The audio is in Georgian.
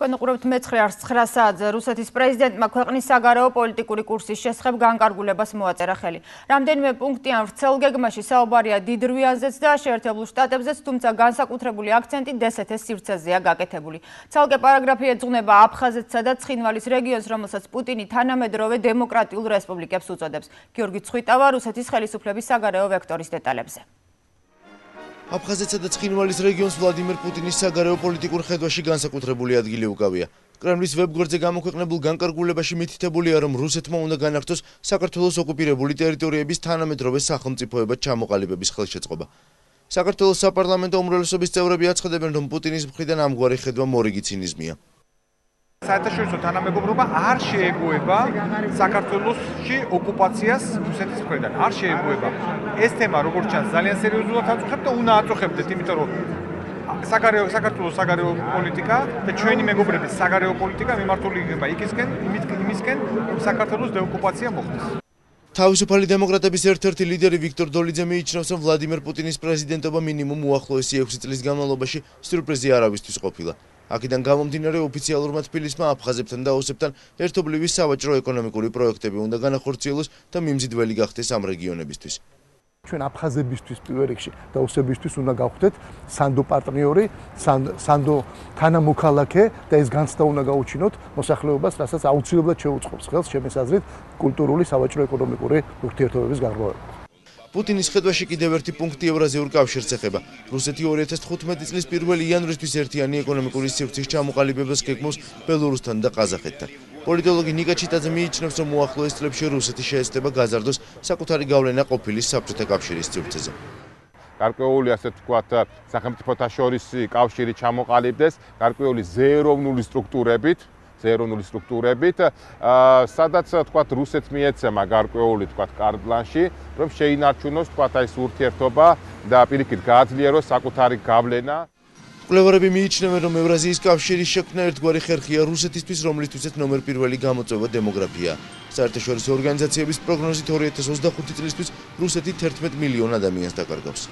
Თქვენ უყურებთ მე-9 საათზე რუსეთის პრეზიდენტმა ქვეყნის საგარეო პოლიტიკური კურსის შესახებ განკარგულებას მოაწერა ხელი. რამდენიმე პუნქტიან ვრცელ გეგმაში საუბარია დიდ რვიანზეც და შეერთებულ შტატებზეც, თუმცა განსაკუთრებული აქცენტი დსთ-ს სივრცეზეა გაკეთებული. ცალკე პარაგრაფი ეძღვნება აფხაზეთსა და ცხინვალის რეგიონს, რომელსაც პუტინი თანამედროვე დემოკრატიულ რესპუბლიკებს უწოდებს. გიორგი ცხვიტავა რუსეთის ხელისუფლების საგარეო ვექტორის დეტალებზე. აფხაზეთსა და ცხინვალის რეგიონს ვლადიმერ პუტინის საგარეო პოლიტიკურ ხედვაში განსაკუთრებული ადგილი უკავია. კრემლის ვებგვერდზე გამოქვეყნებულ განკარგულებაში მითითებულია, რომ რუსეთმა უნდა განაგრძოს საქართველოს ოკუპირებული ტერიტორიების თანამედროვე სახელმწიფოებად ჩამოყალიბების ხელშეწყობა. საქართველოს საპარლამენტო უმრავლესობის წევრები აცხადებენ, რომ პუტინის მხრიდან ამგვარი ხედვა მორიგი ცინიზმია. საერთაშორისო თანამეგობრობა არ შეეგუება საქართველოსში ოკუპაციას რუსეთის მხრიდან. არ შეეგუება. ეს თემა როგორც ჩანს ძალიან სერიოზულად აწუხებთ და უნდა აწუხებდეთ, იმიტომ რომ საქართველოს საგარეო პოლიტიკა და ჩვენი მეგობრების საგარეო პოლიტიკა მიმართული იქნება იმისკენ, რომ საქართველოს დეოკუპაცია მოხდეს. თავისუფალი დემოკრატების ერთ-ერთი ლიდერი ვიქტორ დოლიძე მიიჩნევს, რომ ვლადიმერ პუტინის პრეზიდენტობა მინიმუმ უახლოესი 6 წლის განმავლობაში სიურპრიზი არავისთვის ყოფილა. აქედან გამომდინარე ოფიციალურმა თბილისმა აფხაზებთან და ოსებთან ერთობლივი სავაჭრო-ეკონომიკური პროექტები უნდა განახორციელოს და მიმზიდველი გახდეს ამ რეგიონებისთვის. ჩვენ აფხაზებისთვის პირველ რიგში და ოსებისთვის უნდა გავხდეთ სანდო პარტნიორი, სანდო თანამოქალაქე და ეს განცდა უნდა გაუჩინოთ მოსახლეობას, რასაც აუცილებლად შეუწყობს ხელს ჩემს აზრით კულტურული სავაჭრო-ეკონომიკური ურთიერთობების გარღვევა. პუტინის ხედვაში კიდევ ერთი პუნქტი ევრაზიულ კავშირს ეხება. რუსეთი 2015 წლის 1 იანვრისთვის ერთიანი ეკონომიკური სივრცის ჩამოყალიბებას გეგმავს ბელორუსთან და ყაზახეთთან. პოლიტოლოგი ნიკა ჩიტაძე მიიჩნევს, რომ უახლოეს წლებში რუსეთი შეეცდება გაზარდოს საკუთარი გავლენა ყოფილი საბჭოთა კავშირის სივრცეზე. გარკვეული ასე ვთქვათ, სახელმწიფოთა შორისი კავშირი ჩამოყალიბდეს, გარკვეული ზეეროვნული სტრუქტურებით, სადაც თქვათ რუსეთს მიეცემა გარკვეული თქვათ კარტ-ბლანში, რომ შეინარჩუნოს თქვათ ეს ურთიერთობა და პირიქით გააძლიეროს საკუთარი გავლენა. მკვლევარები მიიჩნევენ, რომ ევრაზიის კავშირის შექმნა ერთგვარი ხერხია რუსეთისთვის, რომლისთვისაც ნომერ პირველი გამოწვევა დემოგრაფია. საერთაშორისო ორგანიზაციების პროგნოზით 2025 წლისთვის რუსეთი 11 მილიონ ადამიანს დაკარგავს.